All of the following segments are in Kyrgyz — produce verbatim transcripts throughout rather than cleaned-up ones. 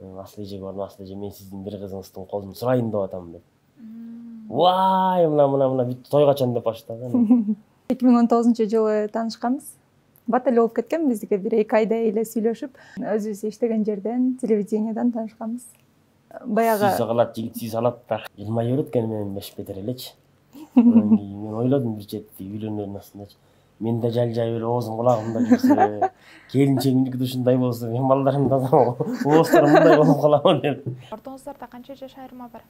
Асыл эжеге бардым, асыл эже мен сиздин бир кызыңыздын колун сурайын деп атам деп. Вай, мына мына мына бүт той качан деп баштаган. эки миң он тогузунчу жылы таанышканбыз. Бат эле болуп кеткен биздики, бир эки айдай эле сүйлөшүп, өзүбүз иштеген жерден, телевидениеден таанышканбыз. Баягы сүй калат, жигит сүй салат да. Жылмай берет экен менен беш бетер элечи. Мен ойлодум бир чети үйлөнөрүнүн астындачы. Мен да жалжай эле оозум кулагымда жүрсө, келинчегимдики да ушундай болсо, мен балдарым да оозторум мындай болуп каламын деп. Ортоңуздарда канча жаш айырма бар?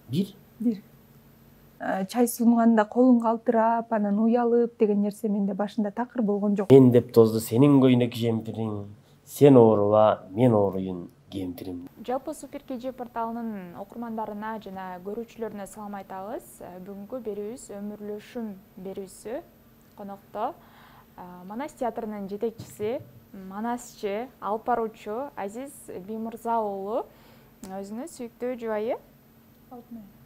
Бир. Бир. Чай сунганда колун калтырап, анан уялып деген нерсе менде башында такыр болгон жок. Мен деп тозду сенин көйнөк жемпириң, сен ооруба, мен ооруйун кемпирим. Жалпы Супер КЖ порталынын окурмандарына жана көрүүчүлөрүнө салам айтабыз. Бүгүнкү берүүбүз өмүрлөшүм берүүсү. Конокто Манас театрынын жетекчиси, манасчы, алып баруучу Азиз Биймырза уулу өзүнүн сүйүктүү жубайы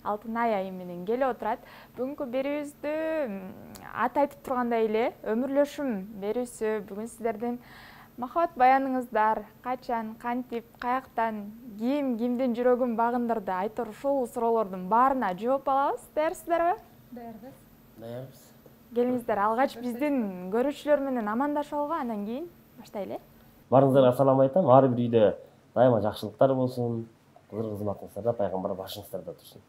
Алтынай айым менен келип отурат. Бүгүнкү берүүбүздү аты айтып тургандай эле өмүрлөшүм берүүсү. Бүгүн сиздердин махабат баяныңыздар качан, кантип, каяктан, ким кимдин жүрөгүн багындырды, айтор ушул суроолордун баарына жооп алабыз. Даярсыздарбы? Даярбыз. Даярбыз. Келиңиздер, алгач биздин көрүүчүлөр менен амандашып алгы, анан кийин баштайлы. Баарыңыздарга салам айтам. Ар бир үйдө дайыма жакшылыктар болсун. Кызыр кызматыңыздарда, пайгамбар башыңыздарда турсун.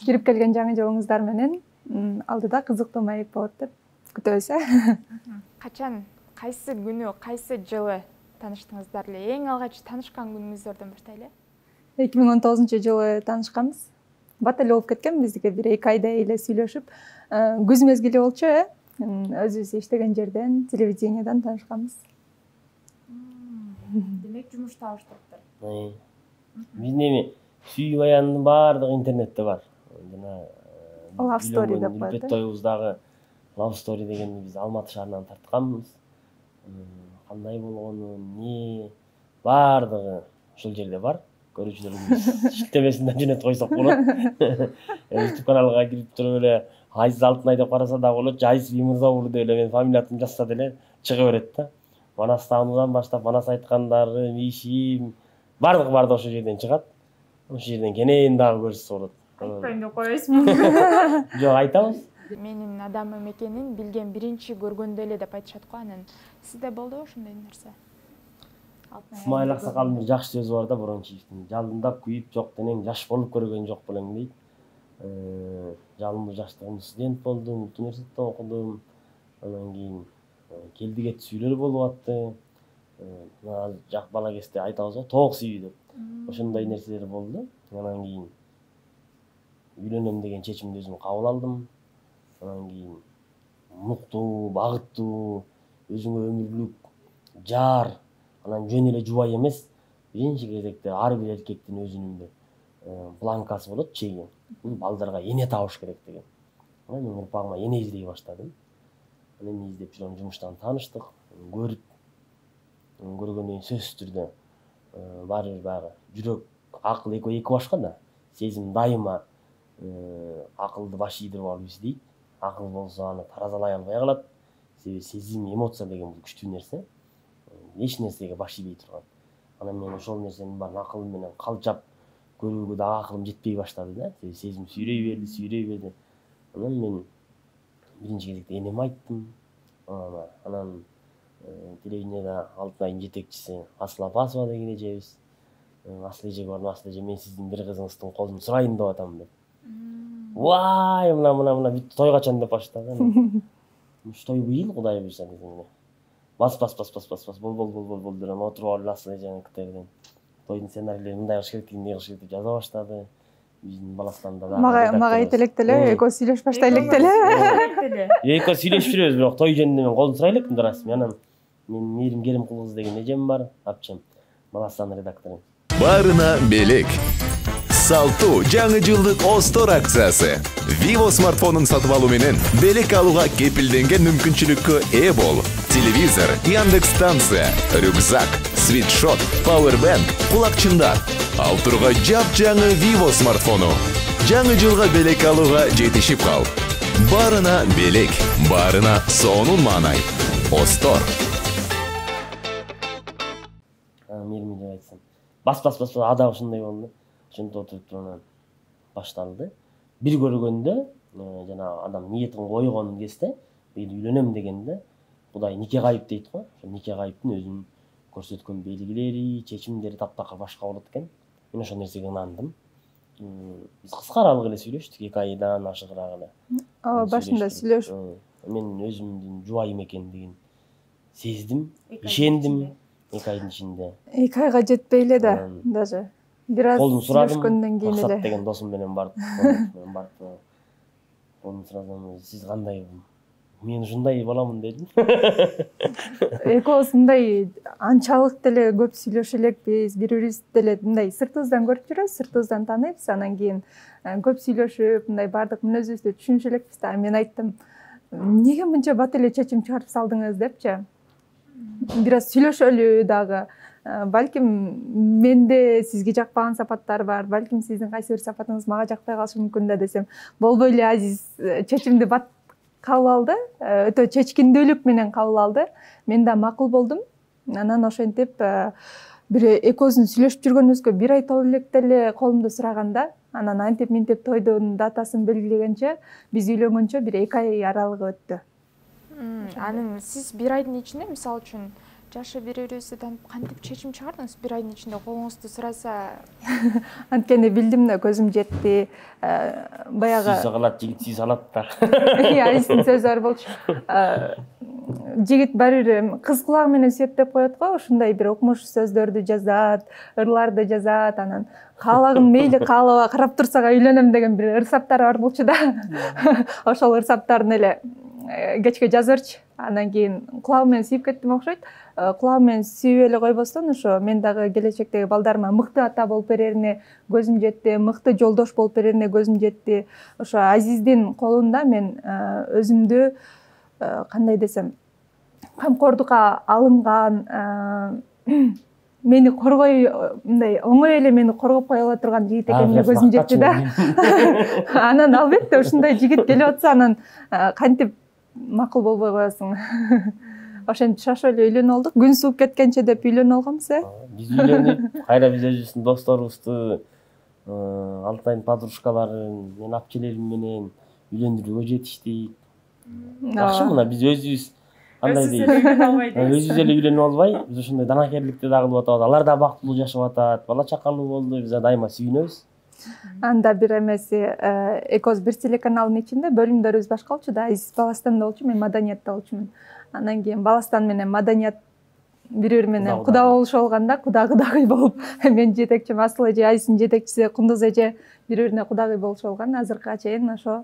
Кирип келген жаңы жылыңыздар менен алдыда кызыктуу маек болот деп күтөбүз. Качан, кайсы күнү, кайсы жылы тааныштыңыздар эле? Эң алгач таанышкан күнүңүздөрдөн баштайлы. эки миң он тогузунчу жылы таанышканбыз. Бат эле болуп кеткен биздики, бир эки айдай эле сүйлөшүп, күз мезгили болчу, э? Өзүбүз иштеген жерден, телевидениеден таанышканбыз. Демек жумуш табыштырыптыр. Биздин эми сүй баянынын баардыгы интернетте бар. Жана Love Story деп коет. Билбет тоюбуздагы Love Story дегенди биз Алматы шаарынан тартканбыз. Кандай болгону, эмне баардыгы ушул жерде бар. Көрүүчүлөрүбүз шиктемесин да жөнөтүп койсок болот. YouTube каналга кирип туруп эле Азиз Алтынай деп караса да болот, Азиз Биймырза уулу деп эле мен фамилиятымды жазса деле чыга берет да. Манас таануудан баштап, Манас айткандары, ишим баардыгы баардыгы ошол жерден чыгат. Ошол жерден кенен дагы көрсө болот. Айтпайм деп коесузбу? Жок, айтабыз. Менин адамым экенин билген биринчи көргөндө эле деп айтышат го. Анан сизде болдубу ошондой нерсе? Исмаил Аксакалдын бир жакшы сөзү бар да, Борончиевдин. Жалындап күйүп жок денең жаш болуп көргөн жок белең дейт. Жалындуу жаштыгымда студент болдум, университетте окудум. Анан кийин келди кет сүйүлөр болуп атты. Мына жак бала кезде айтабыз го, тоок сүйүү деп. Ошондой нерселер болду. Анан кийин үйлөнөм деген чечимди өзүм кабыл алдым. Анан кийин муктуу, багыттуу, өзүңө өмүрлүк жар, анан жөн эле жубай эмес, биринчи кезекте ар бир эркектин өзүнүн бир планкасы болот, чеги. Бул балдарга эне табыш керек деген. Анан мен урпагыма эне издей баштадым. Анан эне издеп жүрөм, жумуштан тааныштык, көрүп көргөндөн кийин сөзсүз түрдө баары бир баягы жүрөк, акыл экөө эки башка да. Сезим дайыма акылды баш ийдирип алып издейт. Акыл болсо аны таразалай албай калат. Себеби сезим, эмоция деген бул күчтүү нерсе. Эч нерсеге баш ийбей турган. Анан мен ошол нерсенин баарын акылым менен калчап көрүүгө дагы акылым жетпей баштады да. Себеби сезим сүйрөй берди, сүйрөй берди. Анан мен биринчи кезекте энеме айттым. Анан телевидениеда Алтынайдын жетекчиси Асыл Апасова деген эжебиз. Асыл эжеге бардым, асыл эже мен сиздин бир кызыңыздын колун сурайын деп атам деп. Вай, мына мына мына бүт той качан деп баштаган. Уш той быйыл, Кудай буйрса десем. Бас бас бас бас бас бас бол бол бол бол бол деп отуруп алып Асыл эженин кытайдан тойдун сценарийлерин мындай кылыш керек, мындай кылыш керек деп жаза баштады. Биздин баластанда да. Мага айт элек деле, экөө сүйлөшүп баштайлык деле. Экөө сүйлөшүп жүрөбүз, бирок той жөнүндө мен колун сурай элекмин расмий. Анан мен Мээрим Керимкул кызы деген эжем бар, апчем, баластанын редактору. Баарына белек. Салтуу жаңы жылдык Остор акциясы. Vivo смартфонун сатып алуу менен белек алууга кепилденген мүмкүнчүлүккө ээ бол. Телевизор, Яндекс станция, рюкзак, свитшот, пауэрбанк, кулакчындар. Ал турга жап-жаңы Vivo смартфону. Жаңы жылга белек алууга жетишип кал. Баарына белек, баарына сонун маанай. Остор. Мээрим деп айтсам. бас бас бас ада ушундай болду. Ошентип отуруп анан башталды. Бир көргөндө жанагы адам ниетин койгон кезде үйлөнөм дегенде Кудай нике кайып дейт го. Ошо нике кайыптын өзүнүн көрсөткөн белгилери, чечимдери таптакыр башка болот экен. Мен ошол нерсеге ынандым. Биз кыскараак эле сүйлөштүк, эки айдан ашыгыраак эле. Ооба, башында сүйлөшүп. Мен өзүмдүн жубайым экендигин сездим, ишендим эки айдын ичинде. эки айга жетпей эле да, даже. Бир аз сүйлөшкөндөн кийин эле. Максат деген досум менен барып, мен барып, колун сурадым, сиз кандай? Мен ушундай боламын дедим. Экөөбүз мындай анчалык деле көп сүйлөшө элекпиз, бири-бирибизди деле мындай сыртыбыздан көрүп жүрөбүз, сыртыбыздан тааныйбыз, анан кийин көп сүйлөшүп, мындай баардык мүнөзүбүздү түшүнүшө элекпиз да. Мен айттым, эмнеге мынча бат эле чечим чыгарып салдыңыз депчи. Бир аз сүйлөшөлү дагы. Балким менде сизге жакпаган сапаттар бар, балким сиздин кайсы бир сапатыңыз мага жакпай калышы мүмкүн да десем, болбой эле Азиз чечимди бат кабыл алды, өтө чечкиндүүлүк менен кабыл алды. Мен да макул болдум. Анан ошентип бир экөөбүздүн сүйлөшүп жүргөнүбүзгө бир ай толо электе эле колумду сураганда, анан антип минтип тойдун датасын белгилегенче, биз үйлөнгөнчө бир эки ай аралыгы өттү. Анын сиз бир айдын ичинде, мисалы үчүн, жашы бири-бирибизди таанып кантип чечим чыгардыңыз? Бир айдын ичинде колуңузду сураса. Анткени билдим да, көзүм жетти. Баягы сүйсө калат, жигит сүйсө алат да. Айсынын сөзү бар болчу. Жигит баары бир кыз кулагы менен сүйөт деп коет го, ушундай бир окумуш сөздөрдү жазат, ырларды жазат, анан каалагым мейли каалаба карап турсак үйлөнөм деген бир ырсаптар бар болчу да. Ошол ырсаптарын эле кечке жазырчы. Анан кийин кулагым менен сүйүп кеттим окшойт. Кулагым менен сүйүп эле койбостон, ошо мен дагы келечектеги балдарыма мыкты ата болуп берерине көзүм жетти, мыкты жолдош болуп берерине көзүм жетти. Ошо Азиздин колунда мен өзүмдү кандай десем, камкордукка алынган, мени коргой, мындай оңой эле мени коргоп кое ала турган жигит экенине көзүм жетти да. Анан албетте ушундай жигит келип атса, анан кантип макул болбой коесуң. Ошентип шашып эле үйлөнүп алдык. Күн сууп кеткенче деп үйлөнүп алганбыз, э? Биз үйлөнүп, кайра биз өзүбүздүн досторубузду, Алтайдын подружкаларын, мен апчелерим менен үйлөндүрүүгө жетиштик. Жакшы, мына биз өзүбүз кандай дейт? Өзүбүз эле үйлөнүп албай, биз ушундай данакерликти дагы кылып атабыз. Алар да бактылуу жашап атат, бала чакалуу болду, биз дайыма сүйүнөбүз. Анда бир эмеси, экөөбүз бир телеканалдын ичинде бөлүмдөрүбүз башка болчу да. Азиз Баластанда болчу, мен Маданиятта болчумун. Анан кийин Баластан менен Маданият бири-бири менен куда болушу болгондо, куда-кудагый болуп, мен жетекчим Асыл эже, Азиздин жетекчиси Кундуз эже бири-бирине кудагый болушу болгон. Азыркыга чейин ошо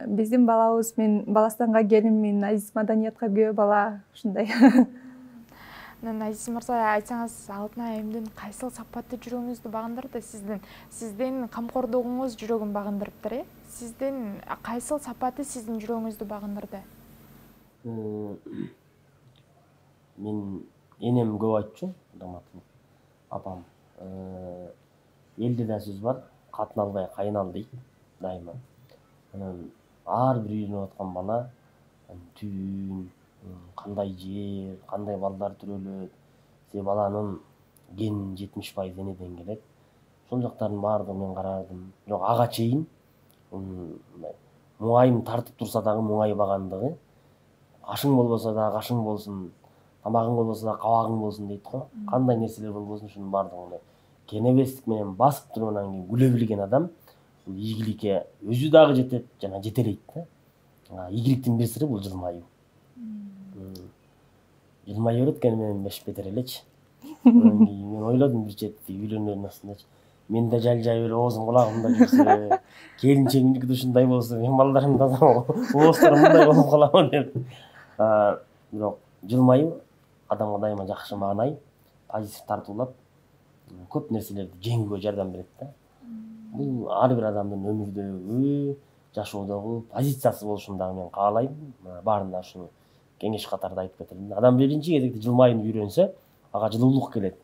биздин балабыз, мен Баластанга келинмин, Азиз Маданиятка күйөө бала, ушундай. Анан Азиз мырза, айтсаңыз, Алтын айымдын кайсыл сапаты жүрөгүңүздү багындырды? Сиздин сиздин камкордугуңуз жүрөгүн багындырыптыр, э? Сиздин кайсыл сапаты сиздин жүрөгүңүздү багындырды? Мен энем көп айтчу, даматым, апам. Элде да сөз бар, катын албай кайын ал дейт дайыма. Анан ар бир үйлөнүп аткан бала түн, кандай жер, кандай балдар төрөлөт, се баланын генин жетимиш пайыз энеден келет. Ошол жактардын баардыгын мен карадым. Бирок ага чейин муңайым тартып турса дагы муңайбагандыгы, ашың болбосо дагы ашың болсун, тамагың болбосо дагы кабагың болсун дейт го. Кандай нерселер болбосун ушунун баардыгын кенебестик менен басып туруп анан кийин күлө билген адам ийгиликке өзү дагы жетет, жана жетелейт да. Ийгиликтин бир сыры бул жылмаюу. Жылмай берет экен менен беш бетер элечи. Мен ойлодум бир четти үйлөнөрдүн астындачы. Мен да жалжай эле оозум кулагымда жүрсө, келинчегимдики да ушундай болсо, мен балдарым да ооздарым мындай болуп каламын деп. Бирок жылмаюу адамга дайыма жакшы маанай, позитив тартуулап, көп нерселерди жеңүүгө жардам берет да. Бул ар бир адамдын өмүрдөгү, жашоодогу позициясы болушун дагы мен каалайм. Баарына ушуну кеңеш катарында айтып кетелим. Адам биринчи кезекте жылмаюуну үйрөнсө, ага жылуулук келет.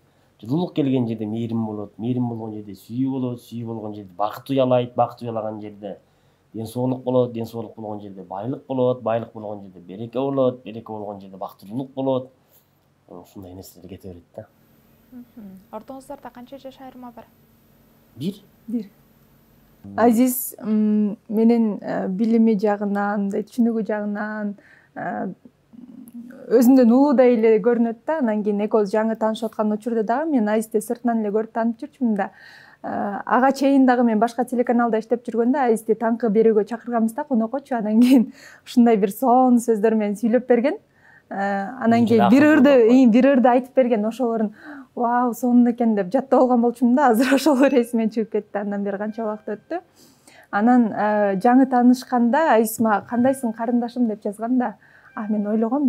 Жылуулук келген жерде мээрим болот, мээрим болгон жерде сүйүү болот, сүйүү болгон жерде бакыт уялайт, бакыт уялаган жерде ден соолук болот, ден соолук болгон жерде байлык болот, байлык болгон жерде береке болот, береке болгон жерде бактылуулук болот. Ушундай нерселер кете берет да. Ортоңуздарда канча жаш айырма бар? Бир. Бир. Азиз менин билими жагынан, мындай түшүнүгү жагынан өзүмдөн улуудай эле көрүнөт да. Анан кийин экөөбүз жаңы таанышып аткан учурда дагы мен Азизди сыртынан эле көрүп таанып жүрчүмүн да. Ага чейин дагы мен башка телеканалда иштеп жүргөндө Азизди таңкы берүүгө чакырганбыз да, конокочу. Анан кийин ушундай бир сонун сөздөр менен сүйлөп берген. Анан кийин бир ырды, бир ырды айтып берген, ошолорун вау, сонун экен деп жаттап алган болчумун да. Азыр ошолор эсимен чыгып кетти. Андан бери канча убакыт өттү. Анан жаңы таанышканда Азиз мага кандайсың карындашым деп жазган да. А мен ойлогом,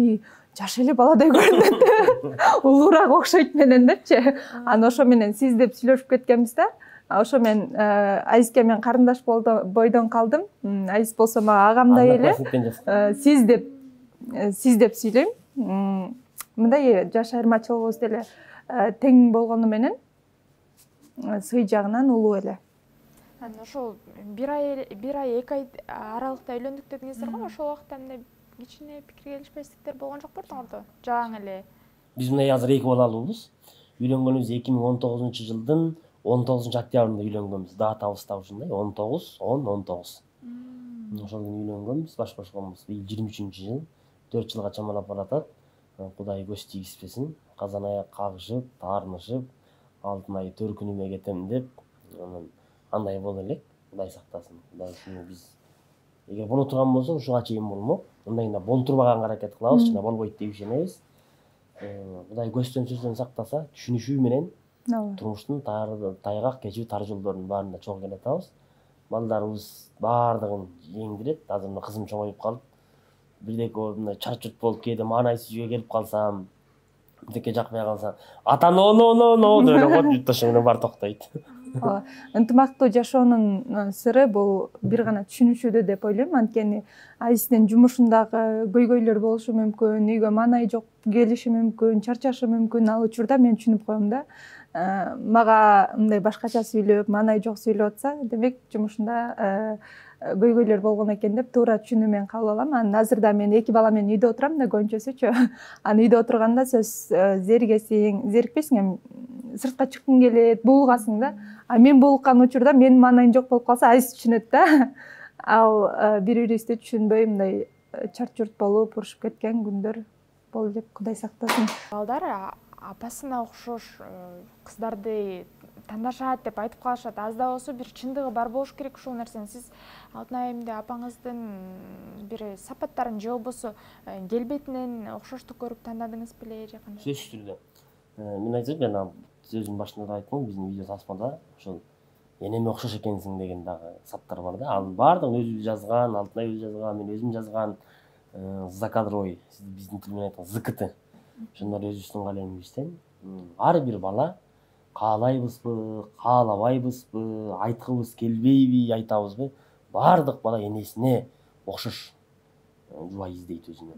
жаш эле баладай көрүнөт. Улуураак окшойт менен депчи. Анан ошо менен сиз деп сүйлөшүп кеткенбиз да. Ошо мен Азизге мен карындаш бойдон калдым. Азиз болсо мага агамдай эле. Сиз деп сиз деп сүйлөйм. Мындай жаш айырмачылыгыбыз деле тең болгону менен сый жагынан улуу эле. Анан ошол бир ай бир ай эки ай аралыкта үйлөндүк дедиңиздер го, ошол убакта мындай кичине пикир келишпестиктер болгон жок беле орто? Жаңы эле. Биз мындай азыр эки балалуубуз. Үйлөнгөнүбүз эки миң он тогузунчу жылдын он тогузунчу октябрында үйлөнгөнбүз. Датабыз да ушундай он тогуз он он тогуз. Ошол күнү үйлөнгөнбүз, баш кошконбуз. Быйыл жыйырма үчүнчү жыл, төрт жылга чамалап баратат. Кудай көз тийгизбесин. Казан аяк кагышып, таарынышып, алтын ай төркүнүмө кетем деп, андай боло элек. Кудай сактасын. Кудай биз эгер боло турган болсо ушуга чейин болмок. Мындайында болтурбаганга аракет кылабыз, жана болбойт деп ишенебиз. Кудай көздөн сөздөн сактаса, түшүнүшүү менен турмуштун тайгак кечүү тар жолдорунун баарында чогуу келе атабыз. Балдарыбыз баардыгын жеңдирет. Азыр мына кызым чоңоюп калып, бирдеке мындай чарчурт болуп кээде маанайсыз үйгө келип калсам, бирдеке жакпай калса, ата но но но но деп эле коет, жутташы менен баары токтойт. Ынтымактуу жашоонун сыры бул бир гана түшүнүшүүдө деп ойлойм. Анткени Азиздин жумушундагы көйгөйлөр болушу мүмкүн, үйгө маанай жок келиши мүмкүн, чарчашы мүмкүн. Ал учурда мен түшүнүп коем да. Мага мындай башкача сүйлөп, маанай жок сүйлөп атса, демек жумушунда көйгөйлөр болгон экен деп туура түшүнүү менен кабыл алам. Анан азыр да мен эки бала менен үйдө отурам да, көбүнчөсүчү. Анан үйдө отурганда сөз зеригесиң, зерикпейсиң, эми сыртка чыккың келет, буулгасың да. А мен буулуккан учурда менин маанайым жок болуп калса, Азиз түшүнөт да. Ал бири-бирибизди түшүнбөй мындай чарчурт болуп, урушуп кеткен күндөр болду деп Кудай сактасын. Балдар апасына окшош кыздарды тандашат деп айтып калышат. Аз да болсо бир чындыгы бар болуш керек ушул нерсени. Сиз Алтын айымда апаңыздын бир сапаттарын же болбосо келбетинен окшоштук көрүп тандадыңыз беле же кандай? Сөзсүз түрдө. Мен айтсам, жана сөзүн башында да айттым, биздин видео тасмада ошол энеме окшош экенсиң деген дагы саптар бар да. Ал баардыгын өзүбүз жазган, Алтын ай өзү жазган, мен өзүм жазган, закадровый, биздин тил менен айтканда зэ ка тэ. Ошондор өзүбүздүн калемибизден. Ар бир бала каалайбызбы, каалабайбызбы, айткыбыз келбейби, айтабызбы, баардык бала энесине окшош жубай издейт өзүнө.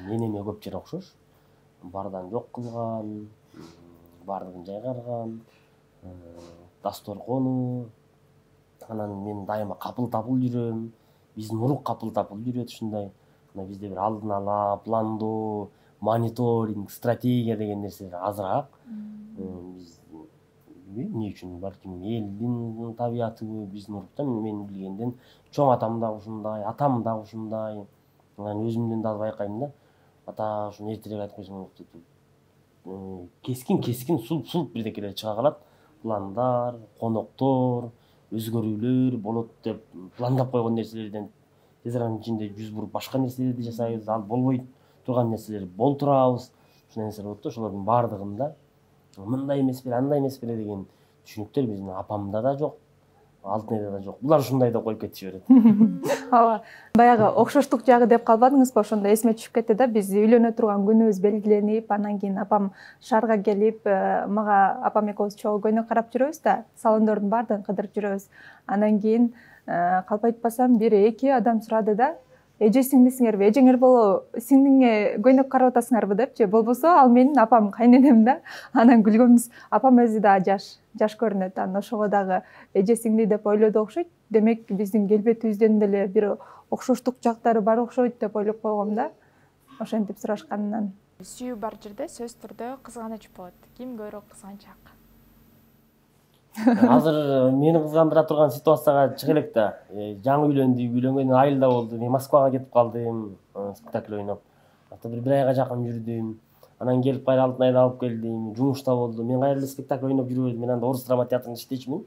Энеме көп жери окшош. Бардан жок кылган, баардыгын жайгарган, дасторкону. Анан мен дайыма капыл-тапыл жүрөм. Биздин урук капыл-тапыл жүрөт ушундай. Бизде бир алдын ала пландоо, мониторинг, стратегия деген нерселер азыраак. Биз эмне үчүн, балким элдин табиятыбы, биздин урукта мен билгенден чоң атам да ушундай, атам да ушундай. Анан өзүмдөн да байкайм да. Ата ушуну эртерээк айтып койсоң, кескин-кескин сулп-сулп бирдекелер чыга калат. Пландар, коноктор, өзгөрүүлөр болот деп пландап койгон нерселерден тез аранын ичинде жүз буруп башка нерселерди жасайбыз. Ал болбой турган нерселер болтурабыз. Ушундай нерселер болот да. Ошолордун баардыгында мындай эмес беле, андай эмес беле деген түшүнүктөр биздин апамда да жок, Алтын айда да жок. Булар ушундай деп коюп кетиши берет. Ооба. Баягы окшоштук жагы деп калбадыңызбы? Ошондо эсиме түшүп кетти да. Биз үйлөнө турган күнүбүз белгиленип, анан кийин апам шаарга келип, мага апам экөөбүз чогуу көйнөк карап жүрөбүз да, салондордун баардыгын кыдырып жүрөбүз. Анан кийин калп айтпасам бир эки адам сурады да, эже сиңдисиңерби, эжеңер боло сиңдиңе көйнөк карап атасыңарбы депчи. Болбосо ал менин апам, кайненем да. Анан күлгөнбүз. Апам өзү да жаш, жаш көрүнөт. Анан ошого дагы эже сиңди деп ойлоду окшойт. Демек биздин келбетибизден деле бир окшоштук жактары бар окшойт деп ойлоп койгом да. Ошентип сурашканынан. Сүйүү бар жерде сөз түрдө кызганыч болот. Ким көбүрөөк кызганчаак? Азыр мени кызгандыра турган ситуацияга чыга элек да. Жаңы үйлөндүк, үйлөнгөндөн айылда болду. Мен Москвага кетип калдым, спектакль ойноп. Ата бир бир айга жакын жүрдүм. Анан келип кайра алтын айда алып келдим. Жумушта болду. Мен кайра эле спектакль ойноп жүрбөдүм. Мен анда Орус драма театрында иштечүмүн.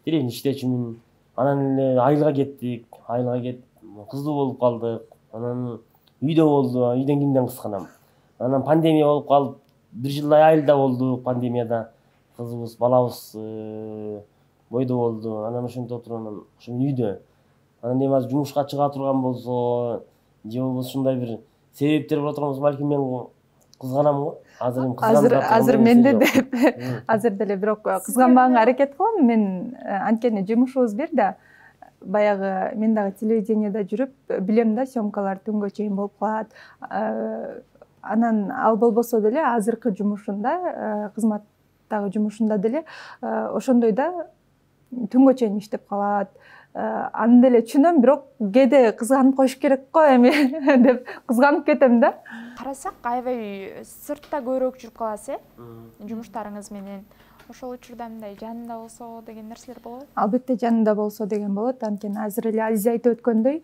Тирен иштечүмүн. Анан эле айылга кеттик. Айылга кетип кыздуу болуп калдык. Анан үйдө болду. Үйдөн кимден кызганам? Анан пандемия болуп калып, бир жылдай айылда болдук пандемияда. Кызыбыз, балабыз бойдо болду. Анан ошентип отуруп анан ошо үйдө. Анан эми азыр жумушка чыга турган болсо, же болбосо ушундай бир себептер боло турган болсо, балким мен кызганам го. Азыр эми азыр азыр менде деп азыр деле бирок кызганбаганга аракет кылам. Мен анткени жумушубуз бир да. Баягы мен дагы телевидениеде жүрүп билем да, съемкалар түнгө чейин болуп калат. Анан ал болбосо деле азыркы жумушунда, кызматтагы жумушунда деле ошондой да түнгө чейин иштеп калат. Аны деле түшүнөм, бирок кээде кызганып коюш керек го эми деп кызганып кетем да. Карасак, аябай сыртта көбүрөөк жүрүп каласыз, э? Жумуштарыңыз менен. Ошол учурда мындай жанында болсо деген нерселер болобу? Албетте жанында болсо деген болот. Анткени азыр эле Азиза айтып өткөндөй,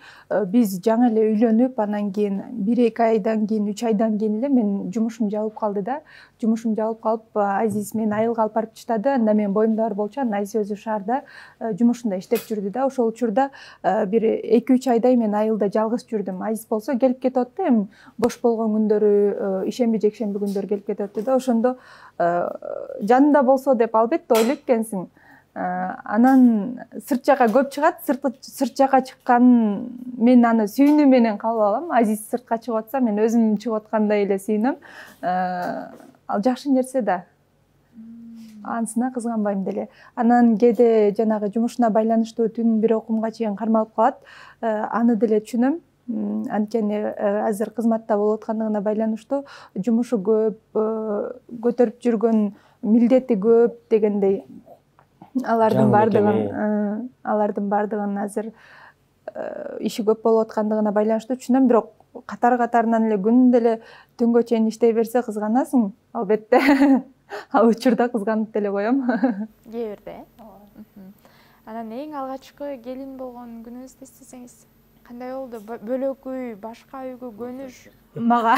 биз жаңы эле үйлөнүп, анан кийин бир эки айдан кийин, үч айдан кийин эле мен жумушум жабылып калды да. Жумушум жабылып калып, Азиз мени айылга алып барып таштады. Анда мен боюмда бар болчу, анан Азиз өзү шаарда жумушунда иштеп жүрдү да. Ошол учурда бир эки үч айдай мен айылда жалгыз жүрдүм. Азиз болсо келип кетип атты, эми бош болгон күндөрү, ишемби жекшемби күндөрү келип кетип атты да. Ошондо жанында болсо деп албетте ойлойт экенсиң. Анан сырт жака көп чыгат, сырт жака чыккан мен аны сүйүүнү менен кабыл алам. Азиз сыртка чыгып атса, мен өзүм чыгып аткандай эле сүйүнөм. Ал жакшы нерсе да. Анысына кызганбайм деле. Анан кээде жанагы жумушуна байланыштуу түн бир окумга чейин кармалып калат. Аны деле түшүнөм. Анткени азыр кызматта болуп аткандыгына байланыштуу жумушу көп, көтөрүп жүргөн милдети көп дегендей. Алардын бардыгын, алардын бардыгын азыр иши көп болуп аткандыгына байланыштуу түшүнөм, бирок катар-катарынан эле күндө эле түнгө чейин иштей берсе кызганасың, албетте. Ал учурда кызганып деле коем. Кээ бирде. Анан эң алгачкы келин болгон күнүңүздү эстесеңиз кандай болду? Бөлөк үй, башка үйгө көнүш? Мага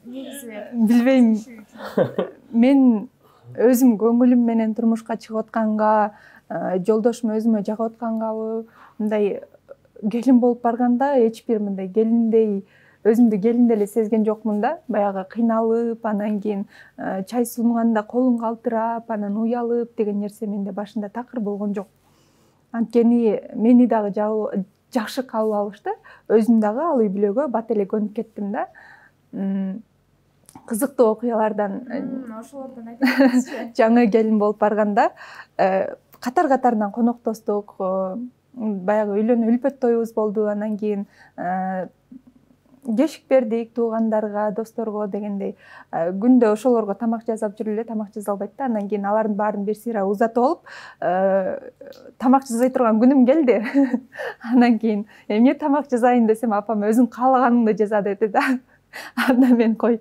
негизи билбейм. Мен өзүм көңүлүм менен турмушка чыгып атканга, жолдошум өзүмө жагып аткангабы, мындай келин болуп барганда эч бир мындай келиндей өзүмдү келин эле сезген жокмун да. Баягы кыйналып, анан кийин чай сунганда колун калтырап, анан уялып деген нерсе менде башында такыр болгон жок. Анткени мени дагы жакшы кабыл алышты. Өзүм дагы ал үй бүлөгө бат эле көнүп кеттим да. Кызыктуу окуялардан ошолордон айтыңызчы. Жаңы келин болуп барганда катар-катарынан коноктоштук. Баягы үйлөнүү үлпөт тоюбуз болду. Анан кийин кешик бердик туугандарга, досторго дегендей. Күндө ошолорго тамак жасап жүрүп эле, тамак жаса албайт да. Анан кийин алардын баарын бир сыйра узатып алып, тамак жасай турган күнүм келди. Анан кийин эмне тамак жасайын десем, апам өзүң каалаганыңды жаза деди да. Анда мен кой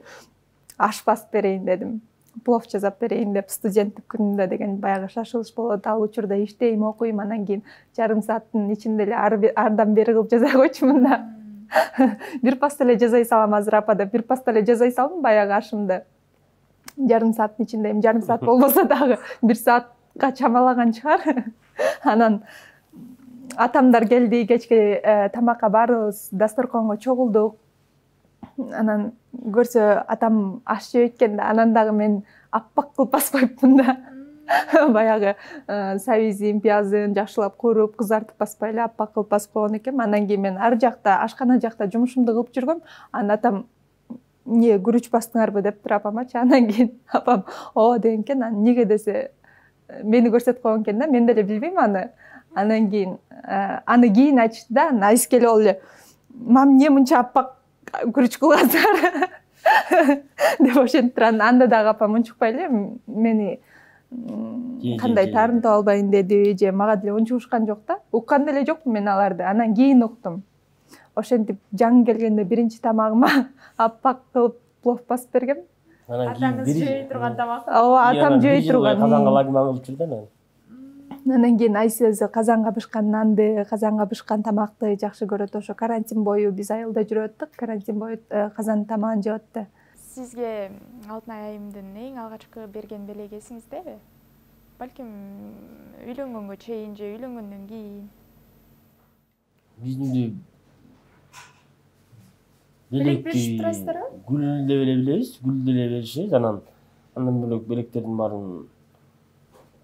аш басып берейин дедим. Плов жасап берейин деп, студенттик күнүмдө деген баягы шашылыш болот. Ал учурда иштейм, окуйм, анан кийин жарым сааттын ичинде эле ардан бери кылып жасай койчумун да. Бир паста эле жасай салам азыр апа деп, бир паста эле жасай салдым баягы ашымды. Жарым сааттын ичинде, эми жарым саат болбосо дагы бир саатка чамалаган чыгар. Анан атамдар келди, кечки тамакка баарыбыз дасторконго чогулдук. Анан көрсө атам аш жеп экен да, анан дагы мен аппак кылып басып коюпмун да. Баягы сабизин, пиязын жакшылап кууруп, кызартып баспай эле аппак кылып басып койгон экенмин. Андан кийин мен ар жакта, ашкана жакта жумушумду кылып жүргөм. Анан атам эмне күрүч бастыңарбы дептир апамачы. Андан кийин апам ооба деген экен. Анан эмнеге десе мени көрсөтүп койгон экен да, мен деле билбейм аны. Анан кийин аны кийин айтышты да, Азиз келип алып эле мам эмне мынча аппак күрүч кылгансыңар деп ошентип анан анда дагы апам унчукпай эле мени кандай таарынтып албайын деди, же мага деле унчугушкан жок да. Уккан деле жокмун мен аларды. Анан кийин уктум. ошентип жаңы келгенде биринчи тамагыма аппак кылып плов басып бергем. Атаңыз жей турган тамак. Ооба, атам жей турган. Казанга лагман кылып жүрдү анан. Андан кийин Айсеза казанга бышкан нанды, казанга бышкан тамакты жакшы көрөт. Ошо карантин бою биз айылда жүрүп аттык. Карантин бою казан тамагын жеп атты. Сизге Алтынай айымдын эң алгачкы берген белеги эсиңиздеби? Балким үйлөнгөнгө чейин же үйлөнгөндөн кийин? Бизди Белек беришип турасыздарбы? Гүл деп эле билебиз, гүл деле беришет. Анан андан бөлөк белектердин баарын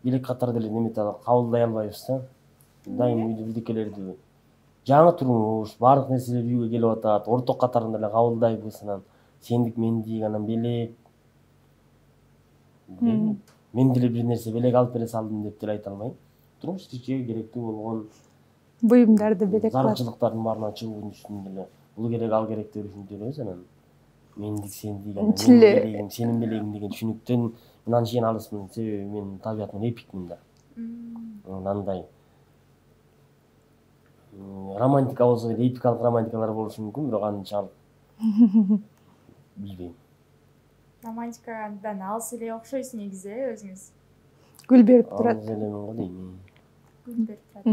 белек катары деле неметип кабылдай албайбыз да. Дайым үйдө бирдекелерди жаңы турмуш, баардык нерселер үйгө келип атат, орток катарында эле кабылдайбыз. Анан сендик мендик, анан белек. Мен деле бир нерсе белек алып бере салдым деп деле айта албайм. Турмуш тиричиликке керектүү болгон буюмдарды белек кылат. Зарылчылыктардын баарына чыгуу үчүн деле бул керек, ал керек деп düşünүбүз. Анан мендик, сендик, анан менин белегим, сенин белегиң деген түшүнүктөн мен анчейин алысмын. Себеби мен табиятыман эпикмин да. Андай романтика болсо деле эпикалык романтикалар болушу мүмкүн, бирок анчалык билбейм. Романтикадан алыс эле окшойсуз негизи өзүңүз. Гүл берип турат. Алыс элемин го дейм. Гүл берип турат.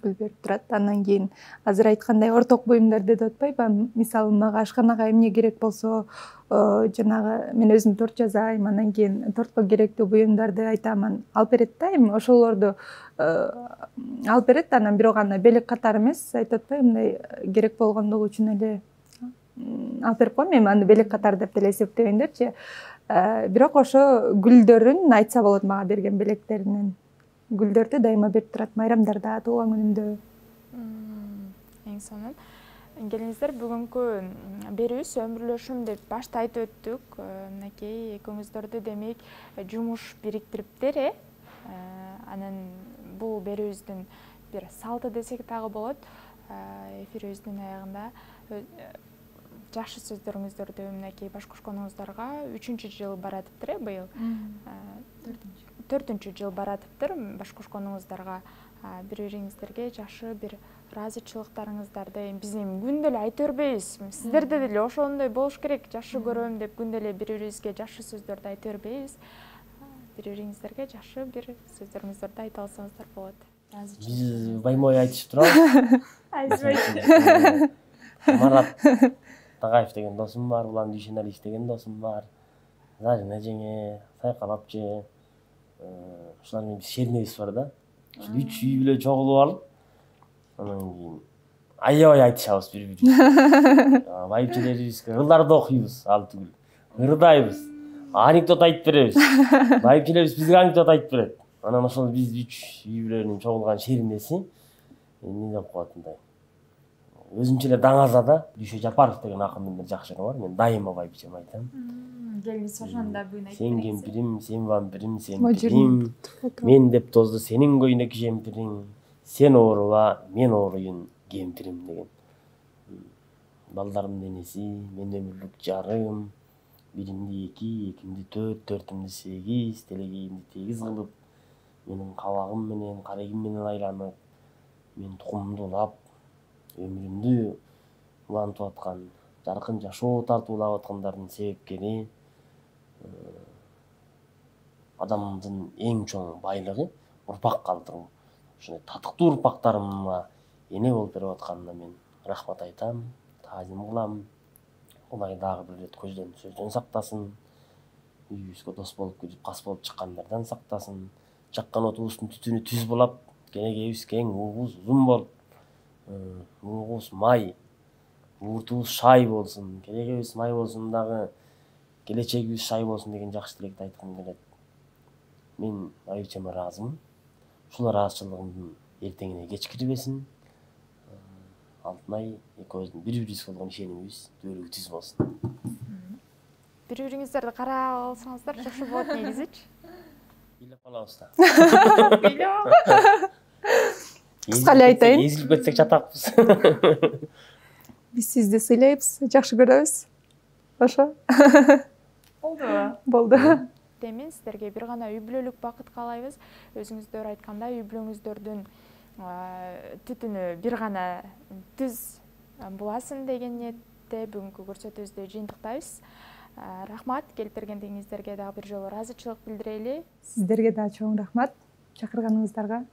Гүл берип турат. Андан кийин азыр айткандай орток буюмдар деп атпайбы? Мисалы мага ашканага эмне керек болсо, жанагы мен өзүм торт жасайм, андан кийин тортко керектүү буюмдарды айтам, алып берет да, эми ошолорду алып берет. Анан бирок аны белек катары эмес, айтып атпайбы, мындай керек болгондугу үчүн эле алып берип коем. Эми аны белек катары деп деле эсептебеңдерчи. Бирок ошо гүлдөрүн айтса болот мага берген белектеринен. Гүлдөрдү дайыма берип турат, майрамдарда, туулган күнүмдө. Эң сонун. Келиңиздер, бүгүнкү берүүбүз өмүрлөшүм деп башта айтып өттүк. Мынакей экөөңүздөрдү демек жумуш бириктириптир, э? Анан бул берүүбүздүн бир салты десек дагы болот. Эфирибиздин аягында жакшы сөздөрүңүздөрдү мынакей баш кошконуңуздарга үчүнчү жыл баратыптыр, э, быйыл. төртүнчү жыл баратыптыр. Баш кошконуңуздарга бири-бириңиздерге жакшы бир ыраазычылыктарыңыздарды биз эми күндө эле айта бербейбиз. Сиздерде деле ошондой болуш керек. Жакшы көрөм деп күндө эле бири-бирибизге жакшы сөздөрдү айта бербейбиз. Бири-бириңиздерге жакшы бир сөздөрүңүздөрдү айта алсаңыздар болот. Биз баймой айтышып турабыз. Айтпайт. Марат Тагаев деген досум бар, Улан Дүйшеналиев деген досум бар. Зарина жеңе, Сайкалап же, ушулар менен биз шернебиз бар да. Ушул үч үй бүлө чогулуп алып, анан кийин аябай айтышабыз бири-бирибизге. Байбичелерибизге ылдарды окуйбуз, ал түгүл. Ырдайбыз. Анекдот айтып беребиз. Байбичелерибиз бизге анекдот айтып берет. Анан ошол биз үч үй бүлөнүн чогулган шеринеси эмне деп коет мындай. Өзүнчө эле даңаза да, Дүйшө Жапаров деген акындын бир жакшы ыры бар. Мен дайыма байбичеме айтам. Келиңиз ошондо бүгүн айтып Сен кемпирим, сен вампирим, сен пирим. Мен деп тозду сенин көйнөк жемпириң. Сен ооруба, мен ооруйун кемпирим деген. Балдарымдын энеси, мен өмүрлүк жарым. Биримди эки, экимди төрт, төртүмдү сегиз, телегейимди тегиз кылып, менин кабагым менен, карегим менен айланып, мен тукумумду улап, өмүрүмдү улантып аткан, жаркын жашоо тартуулап аткандардын себепкери, адамдын эң чоң байлыгы урпак калтыруу. Ошондой татыктуу урпактарыма эне болуп берип атканына мен рахмат айтам, таазим кылам. Кудай дагы бир ирет көздөн сөздөн сактасын. Үйүбүзгө дос болуп кирип, кас болуп чыккандардан сактасын. Жаккан отубуздун түтүнү түз булап, келегейибиз кең, уубуз узун болуп, уубуз май, ууртубуз шай болсун, келегейибиз май болсун дагы, келечегибиз шай болсун деген жакшы тилекти айткым келет. Мен байбичеме ыраазымын. Ушул ыраазычылыгымдын эртеңине кеч кирбесин. Алтынай экөөбүздүн бири-бирибизге болгон ишенимибиз дөөлүгү түз болсун. Бири-бириңиздерди карап алсаңыздар жакшы болот негизичи. Бийлеп калабыз да. Бийлеп. Кыска эле айтайын. Эзилип кетсек жатакпыз. Биз сизди сыйлайбыз, жакшы көрөбүз. Ошо. Болдубу? Болду. Демин сиздерге бир гана үй бүлөлүк бакыт каалайбыз. Өзүңүздөр айткандай үй бүлөңүздөрдүн түтүнү бир гана түз буласың деген ниетте бүгүнкү көрсөтүүбүздү жыйынтыктайбыз. Рахмат, келип бергендигиңиздерге дагы бир жолу ыраазычылык билдирели. Сиздерге да чоң рахмат чакырганыңыздарга.